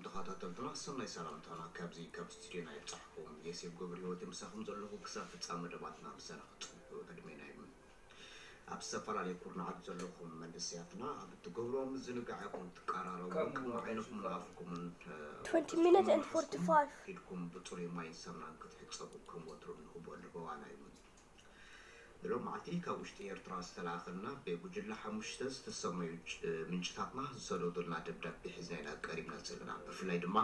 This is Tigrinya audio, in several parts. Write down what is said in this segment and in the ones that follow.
ተኸታተልትና ሰናይ ሰላምታና ካብዚ ካብ ስቱዲዮና ይብጻሕኩም። የሴፍ ገብረ ህይወት ምሳኹም ዘለኹ ክሳብ ፍጻመ መደባትና ምሳና ክጽንሑ ዕድሜና ይኹን። ኣብ ዝተፈላለዩ ኩርናዓት ዘለኹም መንእሰያትና ኣብ እትገብርዎ ምዝንጋዕ ኢኹም ትቀራረቡ። ከም ቅድሚ ዓይንኹምን ኣፍኩምን፣ እ፣ twenty minutes and ክስኩም forty-five። ኢድኩም ብጽሩይ ማይን ሳሙናን ክትሕጸቡ ከም ወትሩ ንህቦ ንበዋና እዩ። ብሎም መዓልቲ ካብ ውሽጢ ኤርትራ ዝተላእኸልና ብጉጅለ ሓሙሽተ ዝተሰመዩ ጭ-፣ ምንጭታትና ዝሰደዱልና ደብዳቤ ሒዝና ኢና ቀሪብና ዘለና። ብፍላይ ድማ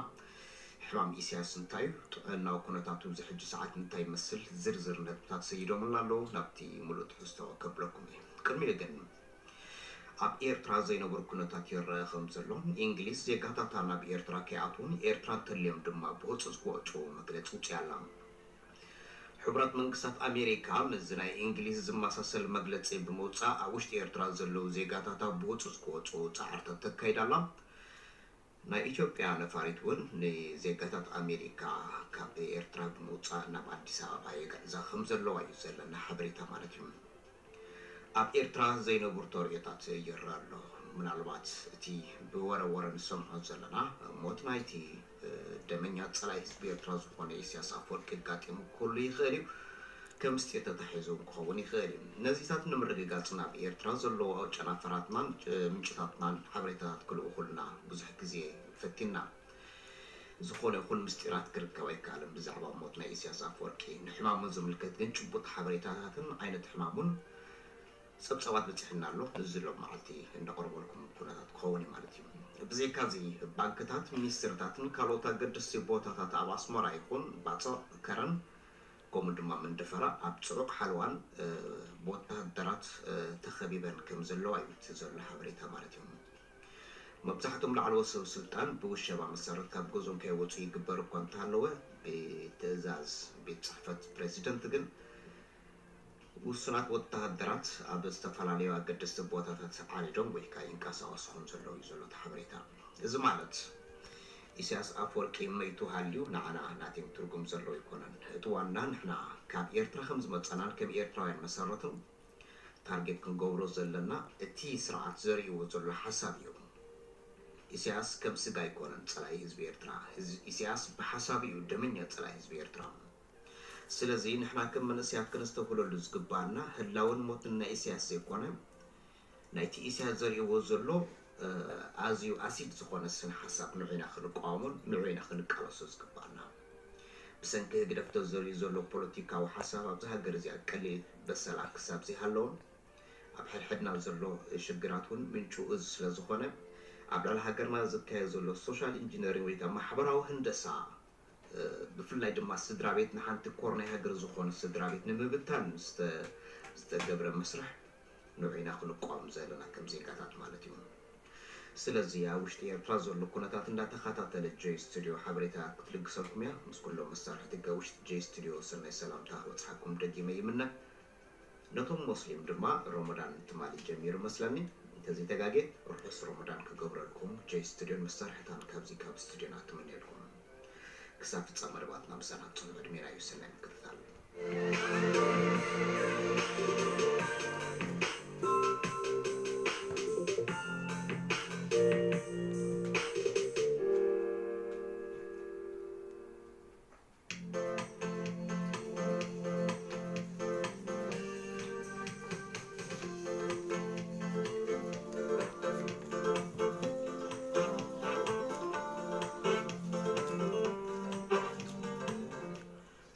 ሕማም ኢሳያስ እንታይ እዩ፣ ጥዕናዊ ኩነታቱ ኣብዚ ሕጂ ሰዓት እንታይ ይመስል፣ ዝርዝር ነጥብታት ሰይዶምልና ኣለዉ። ናብቲ ሙሉእ ትሕዝቶ ከብለኩም እየ። ቅድሚኡ ግን ኣብ ኤርትራ ዘይነብር ኩነታት ይረአ ከም ዘሎ፣ እንግሊዝ ዜጋታታ ናብ ኤርትራ ከይኣትዉን ኤርትራ እንተልዮም ድማ ብህጹጽ ክወጹ መግለጺ ውጽያ ኣላ። ሕቡራት መንግስታት ኣሜሪካ ምስዚ ናይ እንግሊዝ ዝመሳሰል መግለጺ ብምውጻእ ኣብ ውሽጢ ኤርትራ ዘለዉ ዜጋታታ ብህጹጽ ክወጹ ጻዕርታት ተካይድ ኣላ። ናይ ኢትዮጵያ ነፋሪት እውን ንዜጋታት ኣሜሪካ ካብ ኤርትራ ብምውጻእ ናብ ኣዲስ ኣበባ የግዕዛ ከም ዘለዋ እዩ ዘለና ሓበሬታ ማለት እዩ። ኣብ ኤርትራ ዘይነብር ተርእዮታት ይረኣ ኣሎ። ምናልባት እቲ ብወረ ወረ ንሰምዖ ዘለና ሞት ናይቲ፣ እ፣ ደመኛ ጸላኢ ህዝቢ ኤርትራ ዝኾነ ኢሳያስ ኣፈወርቂ ኣጋጢሙ ክህሉ ይኽእል እዩ። ከም ምስጢር ተታሒዙ ክኸውን ይኽእል እዩ። ነዚታት ንምርግጋጽ ናብ ኤርትራ ዘለዉ ጨናፈራትናን፣ እ፣ ምንጭታትናን ሓበሬታታት ክልእኹልና ብዙሕ ግዜ ፈቲና። ዝኾነ ይኹን ምስጢራት ክርከብ ኣይከኣልን ብዛዕባ ሞት ናይ ኢሳያስ ኣፈወርቂ። ንሕማሙ ዝምልከት ግን ጭቡጥ ሓበሬታታትን ዓይነት ሕማሙን ጸብጻባት በጺሕና ኣሎ። እዚ ሎም መዓልቲ እነቕርበልኩም ኩነታት ክኸውን እዩ ማለት እዩ። ብዘይካዚ ባንክታት፣ ሚኒስትርታትን ካልኦት ኣገደስቲ ቦታታት ኣብ ኣስመራ ይኹን ባጽዕ፣ ከረን፣ ከምኡ ድማ መንደፈራ ኣብ ጽዑቕ ሓለዋን፣ እ፣ ብወተሃደራት፣ እ፣ ተኸቢበን ከም ዘለዋ እዩ እቲ ዘሎ ሓበሬታ ማለት እዩ። መብዛሕትኦም ላዕለዎት ሰብ ስልጣን ብውሸባ መሰረት ካብ ገዝኦም ከይወጹ ይግበር እኳ እንተሃለወ፣ ብትእዛዝ ቤት ጽሕፈት ፕሬዚደንት ግን ውሱናት ወተሃደራት ኣብ ዝተፈላለዩ ኣገደስቲ ቦታታት ዓሪዶም ወይ ከኣ ይንቀሳቐሱ ከም ዘለዉ እዩ ዘሎ እቲ ሓበሬታ። እዚ ማለት ኢሳያስ ኣፈወርቂ መይቱ ሃልዩ ንዓና ናቲንግ ትርጉም ዘለዎ ኣይኮነን። እቲ ዋና ንሕና ካብ ኤርትራ ከም ዝመጸናን ከም ኤርትራውያን መሰረትን ታርጌት ክንገብሮ ዘለና እቲ ስርዓት ዘርእይዎ ዘሎ ሓሳብ እዩ። ኢሳያስ ከም ስጋ ኣይኮነን ጸላኢ ህዝቢ ኤርትራ። ህዝ-፣ ኢሳያስ ብሓሳቡ እዩ ደመኛ ጸላኢ ህዝቢ ኤርትራ። ስለዚ ንሕና ከም መንእሰያት ከነስተብህለሉ ዝግባኣና ህላወን ሞትን ናይ ኢሳያስ ዘይኮነ፣ ናይቲ ኢሳያስ ዘርእይዎ ዘሎ፣ እ፣ ኣዝዩ ኣሲድ ዝኾነ ስነ ሓሳብ ንዑ ኢና ክንቃወሞን ንዑ ኢና ክንቃለሶ ዝግባኣና። ብሰንኪ ህግደፍ ተዘርዩ ዘሎ ፖለቲካዊ ሓሳብ ኣብዚ ሃገር እዚኣ ቀሊል በሰላ ክሳብ ዘይሃለወን ኣብ ሕድሕድና ዘሎ ሽግራት እውን ምንጩ እዚ ስለ ዝኾነ፣ ኣብ ልዕሊ ሃገርና ዝካየድ ዘሎ ሶሻል ኢንጂነሪንግ ወይ ከዓ ማሕበራዊ ህንደሳ፣ እ፣ ብፍላይ ድማ ስድራ ቤት ንሓንቲ ኮር ናይ ሃገር ዝኾነ ስድራ ቤት ንምብታን ዝተ-፣ ዝተገብረ መስርሕ ንዑ ኢና ክንቋም ዘለና ከም ዜጋታት ማለት እዩ። ስለዚ ኣብ ውሽጢ ኤርትራ ዘሎ ኩነታት እንዳተኸታተለ ጆይ ስቱዲዮ ሓበሬታ ክትልግሰልኩም እያ። ምስ ኩሎም መሳርሕቲ ጋ ውሽጢ ጆይ ስቱዲዮ ሰናይ ሰላምታ ክበጽሓኩም ደጊመ ይምነ። ነቶም ሞስሊም ድማ ሮሞዳን ትማሊ ጀሚሩ መስለኒ። እንተዘይተጋጌ ርሑስ ሮሞዳን ክገብረልኩም ጆይ ስቱዲዮን መሳርሕታን ካብዚ ካብ ስቱዲዮና ትምነየልኩም። ክሳብ ፍጻመ መደባትና ምሳና ጽንሑ ዕድሜና እዩ ሰናይ ምክትታል።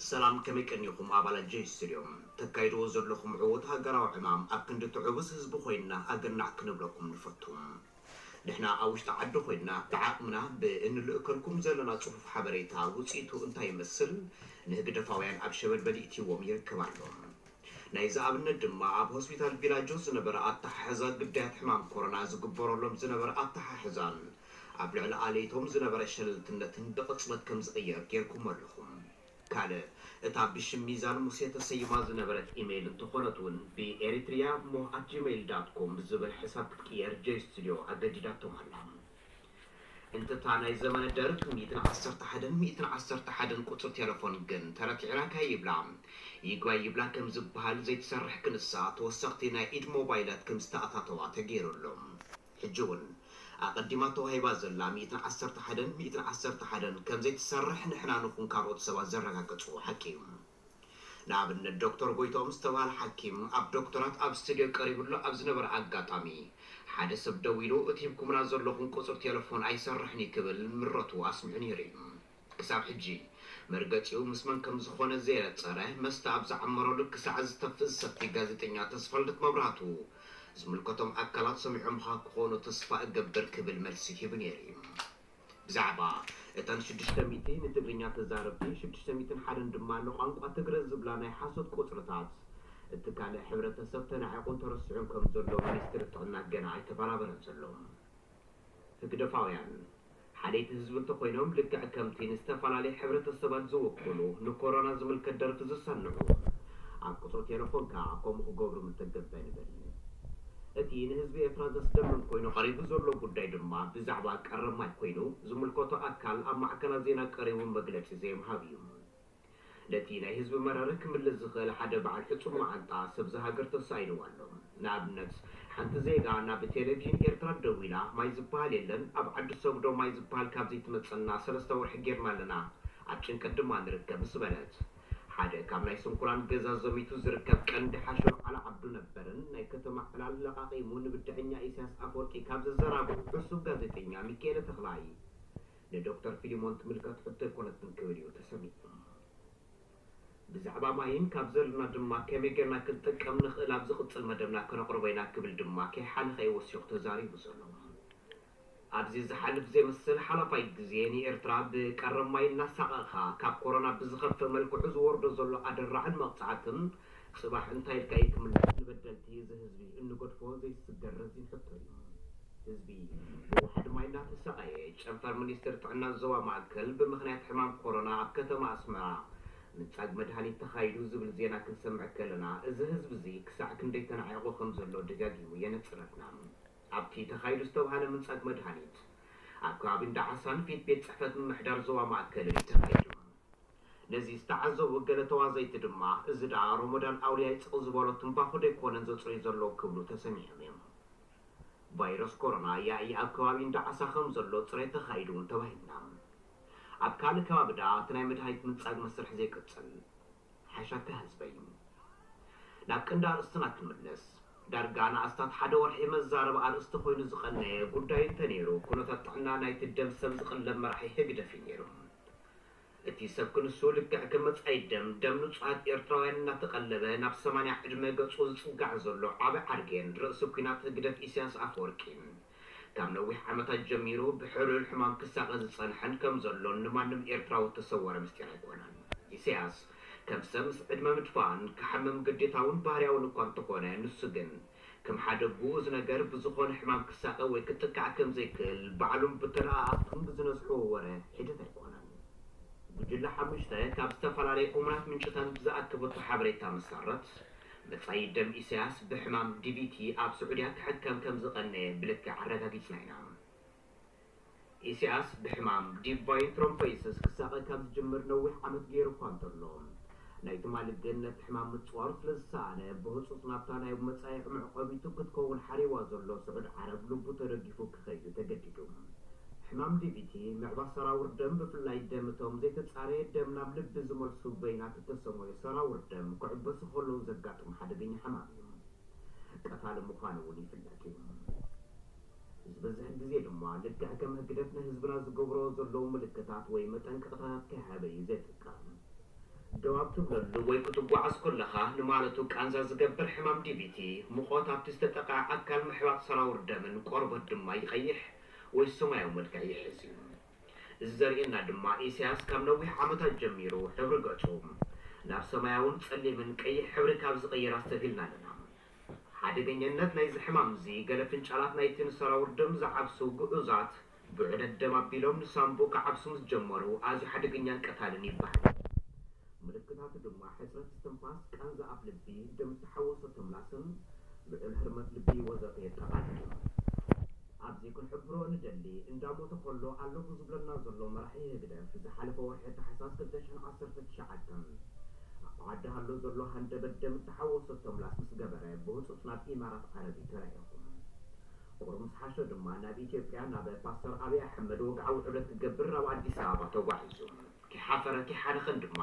ሰላም፣ ከመይ ቀኒኹም ኣባላት ጆይ ስቱድዮ? ተካይድዎ ዘለኹም ዕዉት ሃገራዊ ዕማም ኣብ ክንዲ ትዕውስ ህዝቢ ኮይንና ኣገናዕ ክንብለኩም ንፈቱ። ንሕና ኣብ ውሽጢ ዓዲ ኮይንና ብዓቕምና ብእንልእከልኩም ዘለና ጽፉፍ ሓበሬታ ውጽኢቱ እንታይ ይመስል ንህግደፋውያን ኣብ ሸበድበድ ይእትይዎም ይርከብ ኣሎ። ናይዚ ኣብነት ድማ ኣብ ሆስፒታል ቪላጆ ዝነበረ ኣተሓሕዛ ግዳያት ሕማም ኮሮና ዝግበረሎም ዝነበረ ኣተሓሕዛን ኣብ ልዕሊ ኣለይቶም ዝነበረ ሸለልትነትን ብቕጽበት ከም ዝቕየር ጌርኩም ኣለኹም። ካልእ፣ እታ ብሽም ሚዛን ሙሴ ተሰይማ ዝነበረት ኢሜይል እንተኾነት እውን ብኤሪትሪያ ሞ ኣት ጂሜይል ዳት ኮም ብዝብል ሕሳብ ክትቅየር ጆይ ስቱድዮ ኣገዲዳቶም ኣላ። እንተታ ናይ ዘመነ ደርግ ሚእትን ዓሰርተ ሓደን ሚእትን ዓሰርተ ሓደን ቁጽሪ ቴለፎን ግን ተረቲዕናካ ይብላ። ይግባይ ይብላ ከም ዝበሃል ዘይትሰርሕ ክንሳ ተወሰኽቲ ናይ ኢድ ሞባይላት ከም ዝተኣታተዋ ተገይሩ ኣሎ። ሕጂ እውን ኣቐዲማ ተዋሂባ ዘላ ሚእትን ዓሰርተ ሓደን ሚእትን ዓሰርተ ሓደን ከም ዘይትሰርሕ ንሕና ንኹን ካልኦት ሰባት ዘረጋገጹ ሓቂ እዩ። ንኣብነት ዶክተር ጎይትኦም ዝተባህለ ሓኪም ኣብ ዶክተራት ኣብ ስቱድዮ ቀሪቡሉ ኣብ ዝነበረ ኣጋጣሚ ሓደ ሰብ ደዊሉ እቲ ሂብኩምና ዘለኹም ቁጽሪ ቴሌፎን ኣይሰርሕን እዩ ክብል ምረቱ ኣስሚዑ ነይሩ እዩ። ክሳብ ሕጂ መርገጺኡ ምስ መን ከም ዝኾነ ዘየነጸረ መስተ ኣብ ዝዓመረሉ ክሳዕ ዝተፍእ ዝሰቲ ጋዜጠኛ ተስፋልደት መብራህቱ ዝምልከቶም ኣካላት ሰሚዖምኻ ክኾኑ ተስፋ እገብር ክብል መልሲ ሂቡ ነይሩ እዩ። ብዛዕባ እተን ሽዱሽተ ሚእቲ ንትግርኛ ተዛረብቲ ሽዱሽተ ሚእትን ሓደን ድማ ንቋንቋ ትግረ ዝብላ ናይ ሓሶት ቁጽርታት እቲ ካልእ ሕብረተሰብ ተናዒቑን ተረሲዑን ከም ዘሎ ሚኒስትሪ ጥዕና ገና ኣይተበራበረን ዘሎ። ህግደፋውያን ሓለይቲ ህዝቢ እንተኾይኖም ልክዕ ከምቲ ንዝተፈላለየ ሕብረተሰባት ዝውክሉ ንኮሮና ዝምልከት ደርፊ ዝሰንዑ ኣብ ቁጽሪ ቴሌፎን ከኣ ከምኡ ክገብሩ ምተገብረ ንብል። እቲ ንህዝቢ ኤርትራ ዘስደምም ኮይኑ ቀሪቡ ዘሎ ጉዳይ ድማ ብዛዕባ ቀረብ ማይ ኮይኑ ዝምልከቶ ኣካል ኣብ ማዕከናት ዜና ቀሪቡ መግለጺ ዘይምሃብ እዩ። ነቲ ናይ ህዝቢ መረረ ክምልስ ዝኽእል ሓደ በዓል ሕጹብ መዓንጣ ሰብዚ ሃገር ተሳኢንዋ ኣሎ። ንኣብነት ሓንቲ ዜጋ ናብ ቴሌቪዥን ኤርትራ ደዊላ ማይ ዝበሃል የለን ኣብ ዓዲ ሰጉዶ ማይ ዝበሃል ካብ ዘይትመጸና ሰለስተ ወርሒ ጌርና ኣለና ኣብ ጭንቀት ድማ ንርከብ ምስ በለት ሓደ ካብ ናይ ስንኩላን ገዛ ዘሚቱ ዝርከብ ቀንዲ ሓሸሎ ዓላ ዓብዱ ነበርን ናይ ከተማ ዕላል ለቓቒሙ ንብድዐኛ ኢሳያስ ኣፈወርቂ ካብ ዘዘራግሑ ዕሱብ ጋዜጠኛ ሚካኤለ ተኽላይ ንዶክተር ፊሊሞን ትምልከት ሕቶ ኣይኮነትን ክብል እዩ ተሰሚዑ። ብዛዕባ ማይን ካብ ዘለና ድማ ከመይ ጌርና ክንጥቀም ንኽእል ኣብ ዝቕጽል መደብና ከነቕርቦ ኢና ክብል ድማ ከይሓለኸ እዩ ወሲኹ ተዛሪቡ ዘሎ። ኣብዚ ዝሓልፍ ዘይመስል ሓላፋይ ግዜ ንኤርትራ ብቀረብ ማይ እናሳቐኻ ካብ ኮሮና ብዝኸፍእ መልክዑ ዝወርዶ ዘሎ ኣደራዕን መቕጻዕትን ጽባሕ እንታይ ኢልካ እዩ ክምለስ ንበደልቲ እዚ ህዝቢ እንገድፎ ዘይስገር ረዚን ሕቶ እዩ። ህዝቢ ብዋሕዲ ማይ እናተሳቐየ ጨንፈር ሚኒስትር ጥዕና ዞባ ማእከል ብምኽንያት ሕማም ኮሮና ኣብ ከተማ ኣስመራ ምንጻግ መድሃኒት ተኻይዱ ዝብል ዜና ክንሰምዕ ከለና እዚ ህዝቢ እዚ ክሳዕ ክንደይ ተናዒቑ ከም ዘሎ ደጋጊሙ የነጽረልና። ኣብቲ ተኻይዱ ዝተባህለ ምንጻግ መድሃኒት ኣብ ከባቢ እንዳዓሳን ፊት ቤት ጽሕፈት ምምሕዳር ዞባ ማእከልን እዩ ተኻይዱ። ነዚ ዝተዓዘቡ ገለ ተዋዘይቲ ድማ እዚ ደኣ ሮሞዳን ኣውልያ ይጽቕ ዝበሎ ትንባኾ ደይኮነን ዘጽርዩ ዘለዉ ክብሉ ተሰሚዖም እዮም። ቫይረስ ኮሮና ያኢ ኣብ ከባቢ እንዳዓሳ ከም ዘሎ ጽሬት ተኻይዱ እውን ተባሂልና። ኣብ ካልእ ከባቢ ደኣ እቲ ናይ መድሃኒት ምንጻግ መስርሕ ዘይቅጽል ሓሻካ ህዝበይ። ናብ ቀንዲ ኣርእስትና ክንምለስ። ዳርጋ ንኣስታት ሓደ ወርሒ መዛረቢ ኣርእስቲ ኮይኑ ዝቐነየ ጉዳይ እንተነይሩ ኩነታት ጥዕና ናይቲ ደም ሰብ ዝቕለብ መራሒ ህግደፍ እዩ ነይሩ። እቲ ሰብ ክንሱ ልክዕ ከም መጻኢ ደም ደም ንጹሃት ኤርትራውያን እናተቐለበ ናብ ሰማንያ ዕድመ ገጹ ዝጽጋዕ ዘሎ ዓቢ ዓርጌን ርእሲ ኲናት ህግደፍ ኢሳያስ ኣፈወርቂ ካብ ነዊሕ ዓመታት ጀሚሩ ብሕሉል ሕማም ክሳቐ ዝጸንሐን ከም ዘሎን ንማንም ኤርትራዊ እተሰወረ ምስጢር ኣይኮነን። ኢሳያስ ከም ሰብ ምስ ዕድመ ምድፋእን ክሓምም ግዴታውን ባህርያውን እኳ እንተኾነ ንሱ ግን ከም ሓደ ግኡዝ ነገር ብዝኾነ ሕማም ክሳቐ ወይ ክጥቃዕ ከም ዘይክእል ባዕሉን ብተለኣኣኽቱን ብዝነዝሕዎ ወረ ሒደት ኣይኮነን። ጉጅለ ሓሙሽተ ካብ ዝተፈላለየ እሙናት ምንጭታት ብዝኣከበቶ ሓበሬታ መሰረት መጻኢ ደም ኢሳያስ ብሕማም ዲቪቲ ኣብ ስዑድያ ክሕከም ከም ዝቐነየ ብልክዕ ኣረጋጊጽና ኢና። ኢሳያስ ብሕማም ዲቫይን ትሮምቦሲስ ክሳቐ ካብ ዝጅምር ነዊሕ ዓመት ገይሩ እኳ እንተሎ ናይ ትማሊ ግን ነቲ ሕማም ምጽዋሩ ስለ ዝሰኣነ ብህጹጽ ናብታ ናይ መጻኢ መዕቆቢቱ ክትከውን ሓሪዋ ዘሎ ስዑድ ዓረብ ልቡ ተደጊፉ ክኸይድ ተገዲዱ። ሕማም ዲቪቲ ምዕባስ ሰራውር ደም ብፍላይ ደም እቶም ዘይተጻረየ ደም ናብ ልቢ ዝመልሱ በይናት እተሰመዩ ሰራውር ደም ክዕበሱ ከለዉ ዘጋጥም ሓደገኛ ሕማም እዩ። ቀታሊ ምዃኑ እውን ይፍለጥ እዩ። ዝበዝሕ ግዜ ድማ ልክዕ ከም ህግደፍ ንህዝብና ዝገብሮ ዘለዉ ምልክታት ወይ መጠንቀቕታታት ከይሃበ እዩ ዘጥቀም። ደው ኣብ ትብለሉ ወይ ክትጓዓዝ ከለኻ ንማለቱ ቃንዛ ዝገብር ሕማም ዲቪቲ፣ ሙቐት ኣብቲ ዝተጠቕዐ ኣካል ምሕባጥ ሰራውር ደምን ቆርበት ድማ ይቐይሕ ወይ ሰማያዊ መልክዕ ይሕዝ እዩ። እዚ ዘርእየና ድማ ኢሳያስ ካብ ነዊሕ ዓመታት ጀሚሩ ሕብሪ ገጹ ናብ ሰማያውን ጸሊምን ቀይሕ ሕብሪ ካብ ዝቕይር ኣስተብሂልና ኣለና። ሓደገኛነት ናይዚ ሕማም እዚ ገለ ፍንጫላት ናይቲ ንሰራውር ደም ዝዓብሱ ግኡዛት ብዑደት ደም ኣቢሎም ንሳንቡእ ክዓብሱ ምስ ጀመሩ ኣዝዩ ሓደገኛን ቀታልን ይበሃል። ምልክታቱ ድማ ሕጽረት እስትንፋስ፣ ቃንዛ ኣፍ ልቢ፣ ደም እተሓወሶ ተምላስን ልዑል ህርመት ልቢ ወዘተ የጠቓልል እዩ። ኣብዚ ክንሕብሮ ንደሊ እንዳሞተ ከሎ ኣለኹ ዝብለና ዘሎ መራሒ ህግደፍ ዝሓለፈ ወርሒ ታሕሳስ ክልተ ሽሕን ዓሰርተ ትሽዓተን ኣብ ዓዲ ሃሎ ዘሎ ሃንደበት ደም እተሓወሶ ተምላስ ምስ ገበረ ብህጹጽ ናብ ኢማራት ዓረብ እዩ ተላኢኹ። ፍቕሩ ምስ ሓሾ ድማ ናብ ኢትዮጵያ ናብ ፓስተር ኣብይ ኣሕመድ ወግዓዊ ዑደት ክገብር ናብ ኣዲስ ኣበባ ተጓዒዙ። ከይሓፈረን ከይሓነኸን ድማ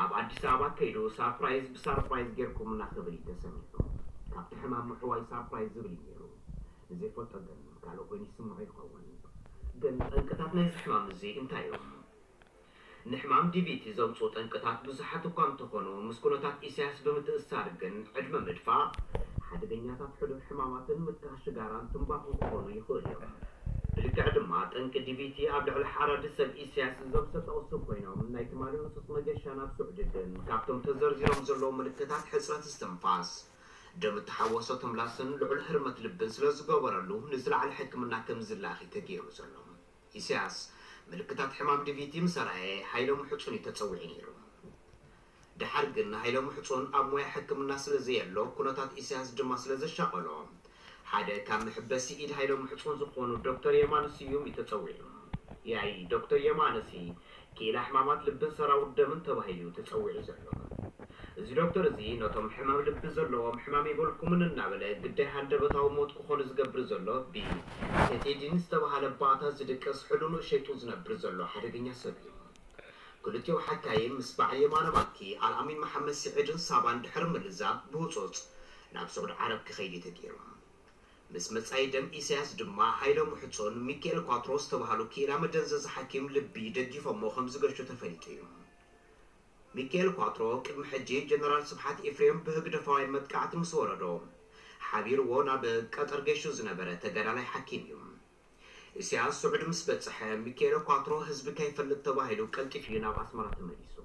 ኣብ ኣዲስ ኣበባ ከይዱ ሳርፕራይዝ ብሳርፕራይዝ ጌርኩምና ክብል እዩ ተሰሚዑ። ካብቲ ሕማም ምሕዋይ ሳርፕራይዝ ዝብል እዩ ነይሩ። ንዘይፈልጦ ግን ካልእ ኮይኑ ይስምዖ ይኸውን። ግን ጠንቅታት ናይዚ ሕማም እዚ እንታይ እዮም? ንሕማም ዲቪቲ ዘምፅኡ ጠንቅታት ብዙሓት እኳ እንተኾኑ፣ ምስ ኩነታት ኢሳያስ ብምትእስሳር ግን ዕድመ ምድፋእ፣ ሓደገኛታት ሕዱር ሕማማትን ምትካኽ ሽጋራን ትንባኹን ክኾኑ ይኽእሉ እዮም። ብልክዕ ድማ ጠንቂ ዲቪቲ ኣብ ልዕሊ ሓራዲ ሰብ ኢሳያስ እዞም ዝተጠቕሱ ኮይኖም፣ ናይ ትማሊ ህጹጽ መገሻ ናብ ስዑዲ ግን ካብቶም ተዘርዚሮም ዘለዉ ምልክታት ሕጽረት እስትንፋስ፣ ደም እተሓወሶ ትምላስን ልዑል ህርመት ልብን ስለ ዝገበረሉ ንዝለዓለ ሕክምና ከም ዝለኣኽ እዩ ተገይሩ ዘሎ። ኢሳያስ ምልክታት ሕማም ዲቪቲ ምስ ኣርኣየ ሃይለ ምሕጹን እዩ ተጸዊዑ ነይሩ። ደሓር ግን ሃይለ ምሕጹን ኣብ ሞያ ሕክምና ስለ ዘየሎ፣ ኩነታት ኢሳያስ ድማ ስለ ዘሻቐሎ፣ ሓደ ካብ መሕበሲ ኢድ ሃይለ ምሕጹን ዝኾኑ ዶክተር የማነ ስዩም እዩ ተጸዊዑ። ያይ ዶክተር የማነሲ ክኢላ ሕማማት ልብን ሰራውር ደምን ተባሂሉ እዩ ተጸዊዑ ዘሎ። እዚ ዶክተር እዚ ነቶም ሕማም ልቢ ዘለዎም ሕማም የብልኩምን እናበለ ግዳይ ሃንደበታዊ ሞት ክኾኑ ዝገብር ዘሎ ብሴቴዲን ዝተባሃለ ባእታ ዝድቅስ ሕዱ ንእሸይጡ ዝነብር ዘሎ ሓደገኛ ሰብ እዩ። ክልቲኡ ሓካይም ምስ በዓል የማነ ባንኪ ኣልኣሚን መሓመድ ስዒድን ሳባን ድሕሪ ምልዛብ ብህጹጽ ናብ ስዑድ ዓረብ ክኸይድ እዩ ተገይሩ። ምስ መጻኢ ደም ኢሳያስ ድማ ሃይለ ምሕጹን ሚካኤል ኳትሮ ዝተባሃሉ ክኢላ መደንዘዚ ሓኪም ልቢ ደጊፎሞ ከም ዝገሹ ተፈሊጡ እዩ። ሚካኤል ኳትሮ ቅድሚ ሕጂ ጀነራል ስብሓት ኤፍሬም ብህግደፋውያን መጥቃዕቲ ምስ ወረዶ ሓቢርዎ ናብ ቀጠር ገሹ ዝነበረ ተጋዳላይ ሓኪም እዩ። ኢሳያስ ስዑዲ ምስ በጽሐ ሚካኤል ኳትሮ ህዝቢ ከይፈልጥ ተባሂሉ ቀልጢፉ እዩ ናብ ኣስመራ ተመሊሱ።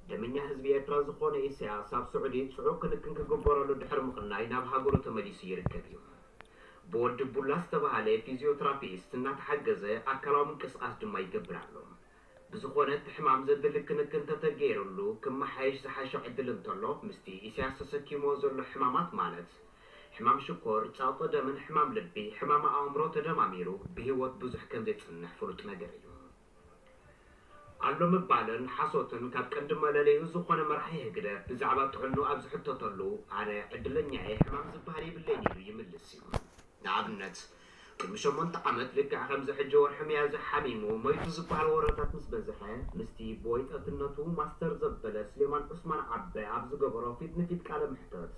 ደመኛ ህዝቢ ኤርትራ ዝኾነ ኢሳያስ ኣብ ስዑዲ ጽዑቕ ክንክን ክግበረሉ ድሕሪ ምቕናይ ናብ ሃገሩ ተመሊሱ ይርከብ እዩ። ብወዲ ቡላ ዝተባሃለ ፊዚዮትራፒስት እናተሓገዘ ኣካላዊ ምንቅስቓስ ድማ ይገብር ኣሎ። ብዝኾነ እቲ ሕማም ዘድሊ ክንክን እንተተገይሩሉ ክመሓየሽ ዝሓሾ ዕድል እንተሎ ምስቲ ኢሳያስ ተሰኪምዎ ዘሎ ሕማማት ማለት ሕማም ሽኮር፣ ጸቕጢ ደምን ሕማም ልቢ፣ ሕማም ኣእምሮ ተደማሚሩ ብህይወት ብዙሕ ከም ዘይጽንሕ ፍሉጥ ነገር እዩ። ኣሎ ምባልን ሓሶትን ካብ ቀንዲ መለለዩ ዝኾነ መራሒ ህግደፍ ብዛዕባ ጥዕንኡ ኣብ ዝሕተተሉ ኣነ ዕድለኛ እየ፣ ሕማም ዝበሃል የብለይን ኢሉ ይምልስ እዩ። ንኣብነት ቅድሚ ሸሞንተ ዓመት ልክዕ ከምዚ ሕጂ ወርሒ ሚያዝያ ሓሚሙ ሞይቱ ዝበሃል ወረታት ምስ በዝሐ ምስቲ ብወይጠትነቱ ማስተር ዘበለ ስሌማን ዑስማን ዓበ ኣብ ዝገበሮ ፊት ንፊት ቃለ መሕተት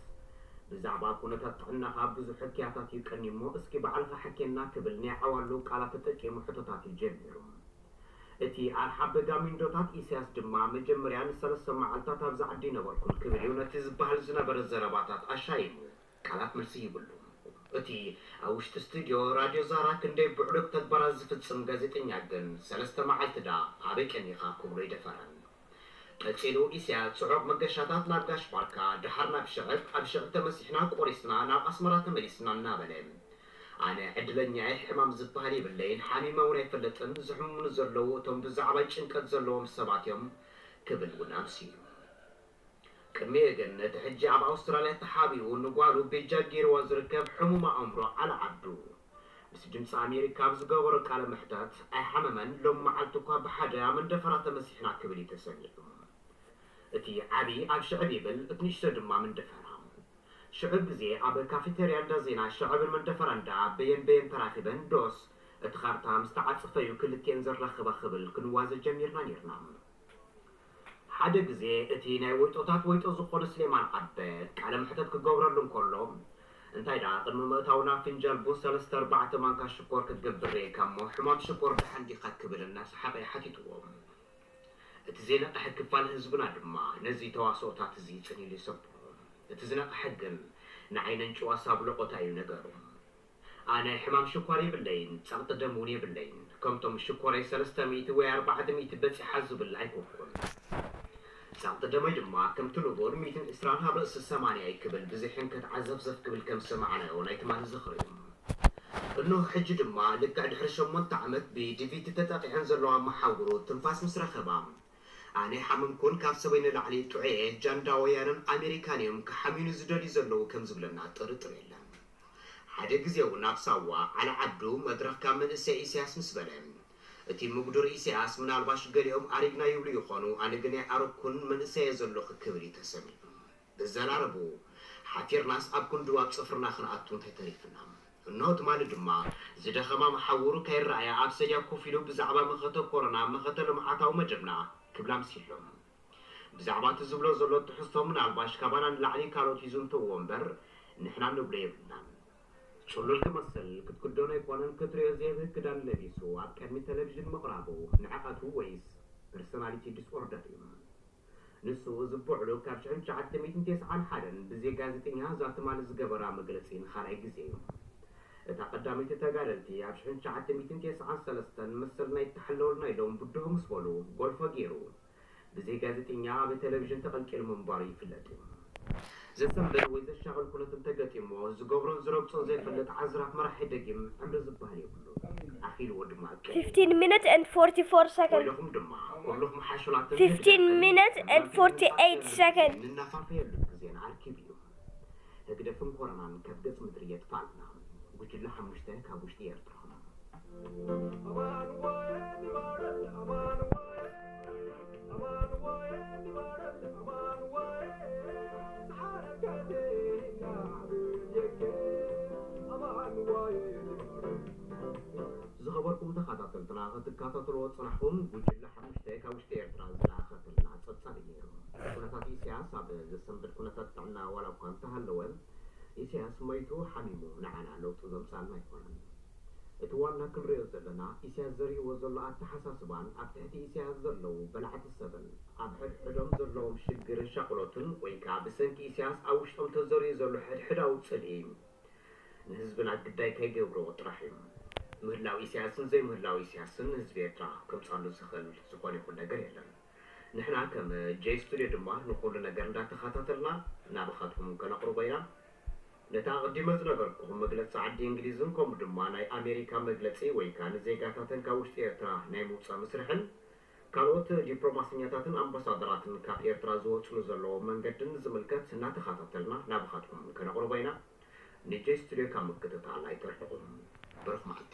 ብዛዕባ ኩነታት ጥዕናኻ ብዙሕ ሕክያታት እዩ ቀኒሞ፣ እስኪ ባዕልኻ ሕኬና ክብል ናይ ዓዋሉ ቃላት ተጠቂሙ ሕቶታት እዩ ጀሚሩ። እቲ ኣርሓ በጋሚንዶታት ኢሳያስ ድማ መጀመርያ ንሰለስተ መዓልታት ኣብዚ ዓዲ ኣይነበርኩን ክብል እዩ ነቲ ዝበሃል ዝነበረ ዘረባታት ኣሻይሙ ቃላት መልሲ ይብሉ። እቲ ኣብ ውሽጢ ስቱድዮ ራድዮ ዛራ ክንደይ ብዕሉግ ተግባራት ዝፍጽም ጋዜጠኛ ግን ሰለስተ መዓልቲ ደኣ ኣበይ ቀኒኻ ክብሎ ኣይደፈረን። ቀጺሉ ኢሳያስ ጽዑቕ መገሻታት ናብ ጋሽ ባርካ፣ ደሓር ናብ ሽዕብ፣ ኣብ ሽዕብ ተመሲሕና ቆሪስና ናብ ኣስመራ ተመሊስና እናበለ ኣነ ዕድለኛ እየ፣ ሕማም ዝበሃል የብለይን፣ ሓሚመ እውን ኣይፈልጥን፣ ዝሕምሙኒ ዘለዉ እቶም ብዛዕባይ ጭንቀት ዘለዎም ሰባት እዮም ክብል እውን ኣምስዩ። ቅድሚኡ ግን እቲ ሕጂ ኣብ ኣውስትራልያ ተሓቢኡ ንጓሉ ቤጃ ገይርዋ ዝርከብ ሕሙም ኣእምሮ ዓሊ ዓብዱ ምስ ድምፂ ኣሜሪካ ኣብ ዝገበሮ ቃለ መሕተት ኣይሓመመን፣ ሎም መዓልቲ እኳ ብሓደ ኣብ መንደፈራ ተመሲሕና ክብል እዩ ተሰሚዑ። እቲ ዓቢ ኣብ ሽዕብ ይብል፣ እቲ ንእሽቶ ድማ መንደፈራ። ሽዑ ግዜ ኣብ ካፌተርያ እንዳ ዜና ሽዕብን መንደፈራን ደኣ በየን በየን ተራኺበን ዶስ እቲ ካርታ ምስ ተዓጸፈ እዩ ክልቲኤን ዘራኽባ ክብል ክንዋዘ ጀሚርና ኔርና። ሓደ ግዜ እቲ ናይ ወይጦታት ወይጦ ዝኾነ ስሌማን ዓበ ቃለ መሕተት ክገብረሉ እንከሎ እንታይ ደኣ ቅድሚ ምእታውና ፍንጃል ቡን ሰለስተ ኣርባዕተ ማንካ ሽኮር ክትገብር ርእየካ እሞ ሕማም ሽኮር ደሓን ዲኻ ክብል እናሰሓቐ ሓቲትዎ። እቲ ዘይነቕሐ ክፋል ህዝብና ድማ ነዚ ተዋስኦታት እዚ ጽን ኢሉ ይሰምዖ። እቲ ዝነቕሐ ግን ንዓይ ነንጭዋስ ኣብ ለቖታ እዩ ነገሩ። ኣነ ሕማም ሽኳር የብለይን፣ ጸቕጢ ደም እውን የብለይን። ከምቶም ሽኮረይ ሰለስተ ሚእቲ ወይ ኣርባዕተ ሚእቲ በጺሓ ዝብል ኣይኮንኩን። ጸቕጢ ደመይ ድማ ከምቲ ንቡር ሚእትን ዕስራን ኣብ ርእሲ ሰማንያ እዩ ክብል ብዘይ ሕንከት ዓዘፍዘፍ ክብል ከም ዝሰማዕናዮ ናይ ትማሊ ዝኽሪ እዩ። እነሆ ሕጂ ድማ ልክዕ ድሕሪ ሸሞንተ ዓመት ብዲቪቲ ተጠቒዐን ዘለዋ መሓውሩ ትንፋስ ምስ ረኸባ፣ ኣነ ሓመምኩን ካብ ሰበይ ንላዕሊ ጥዑየ ጃንዳ ወያነን ኣሜሪካን እዮም ክሓምዩኒ ዝደልዩ ዘለዉ ከም ዝብለና ጥርጥር የለን። ሓደ ግዜ እውን ኣብ ሳዋ ዓሊ ዓብዱ መድረኽ ካብ መንእሰይ ኢሳያስ ምስ በለ፣ እቲ ምጉዱር ኢሳያስ ምናልባሽ ገሊኦም ኣሪግና ይብሉ ይኾኑ፣ ኣነ ግን ኣይኣረግኩን መንእሰየ ዘለኹ ክብል እዩ ተሰሚዑ። ብዘራረቡ ሓፊርናስ ኣብ ክንድው ኣብ ጽፍርና ክንኣቱ እንታይ ተሪፍና? እንሆ ትማሊ ድማ ዝደኸማ መሓውሩ ከይረኣያ ኣብ ሰድያ ኮፍ ኢሉ ብዛዕባ መኸተ ኮሮና፣ መኸተ ልምዓታዊ መደብና ክብላ ኣምሲሎም። ብዛዕባ እቲ ዝብሎ ዘሎ ትሕዝቶ ምናልባሽ ካባና ንላዕሊ ካልኦት ይዝንተዎ እምበር ንሕና ንብሎ የብልናን። ጽሉል ክመስል ክትክደኖ ኣይኮነን ክትርእዮ ዘየብህግ ክዳን ለቢሱ ኣብ ቅድሚ ቴሌቪዥን ምቕራቡ ንዕቐቱ ወይስ ፐርሶናሊቲ ዲስኦርደር እዩ? ንሱ እዚ ብውዕሉ ካብ ሽሕን ትሽዓተ ሚእትን ተስዓን ሓደን ብዘይ ጋዜጠኛ እዛ ትማሊ ዝገበራ መግለጺ ንኻልኣይ ግዜ እዩ። እታ ቀዳመይቲ ተጋደልቲ ኣብ ሽሕን ትሽዓተ ሚእትን ተስዓን ሰለስተን መሰልና ይተሓለወልና ኢሎም ብድሆ ምስ በሉ ጎልፎ ገይሩ ብዘይ ጋዜጠኛ ኣብ ቴሌቪዥን ተቐልቂሉ ምንባሩ ይፍለጥ እዩ። ዘሰንብድ ወይ ዘሻቕል ኩነት እንተገጢሞ ዝገብሮን ዝረግጾን ዘይፈልጥ ዓዝራፍ መራሒ ደጊም ዕምሪ ዝበሃል የብሉ። ኣኺልዎ ድማ ቀይሩ። fifteen minutes and forty-four seconds. ወይለኹም ድማ ኩልኹም ሓሹላት fifteen minutes and forty-eight seconds. ንናፋፈየሉ ግዜን ኣርኪቡ እዩ። ህግደፍን ኮረናን ካብ ገጽ ምድሪ የጥፋልና። ጉጅለ ሓሙሽተ ካብ ውሽጢ ኤርትራ። ዝኸበርኩም ተኸታተልትና ክትከታተልዎ ዝጸናሕኩም ጉጅለ ሓሙሽተ ካብ ውሽጢ ኤርትራ ዝለኣኸትልና ጸብጻብ እዩ ነይሩ። ኩነታት ኢሳያስ ኣብ ዘሰንብድ ኩነታት ጥዕና ዋላ እኳ እንተሃለወ ኢሳያስ መይቱ ሓሚሙ ንዓና ለውጢ ዘምጻልና ኣይኮነን። እቲ ዋና ክንሪኦ ዘለና ኢሳያስ ዘርእዎ ዘሎ ኣተሓሳስባን ኣብ ትሕቲ ኢሳያስ ዘለዉ በላዕቲ ሰብን ኣብ ሕድሕዶም ዘለዎም ሽግርን ሻቕሎትን ወይ ከኣ ብሰንኪ ኢሳያስ ኣብ ውሽጦም ተዘሪኡ ዘሎ ሕድሕዳዊ ጽልኢ ንህዝብና ግዳይ ከይገብርዎ ጥራሕ እዩ። ምህላው ኢሳያስን ዘይምህላው ኢሳያስን ንህዝቢ ኤርትራ ከምጻሉ ዝኽእል ዝኾነ ይኹን ነገር የለን። ንሕና ከም ጄይ ስቱድዮ ድማ ንኹሉ ነገር እንዳተኸታተልና ናባኻትኩም ከነቕርቦ ኢና። ነቲ ኣቐዲመ ዝነገርኩኹም መግለጺ ዓዲ እንግሊዝን ከምኡ ድማ ናይ ኣሜሪካ መግለጺ ወይ ከኣ ንዜጋታተን ካብ ውሽጢ ኤርትራ ናይ ምውጻእ መስርሕን ካልኦት ዲፕሎማሰኛታትን ኣምባሳደራትን ካብ ኤርትራ ዝወጽሉ ዘለዎም መንገድን ዝምልከት እናተኸታተልና ናባኻትኩም ከነቕርቦ ኢና። ንጄይ ስቱድዮ ካብ ምክትታል ኣይትርሕቑ። ብሩኽ መዓልቲ።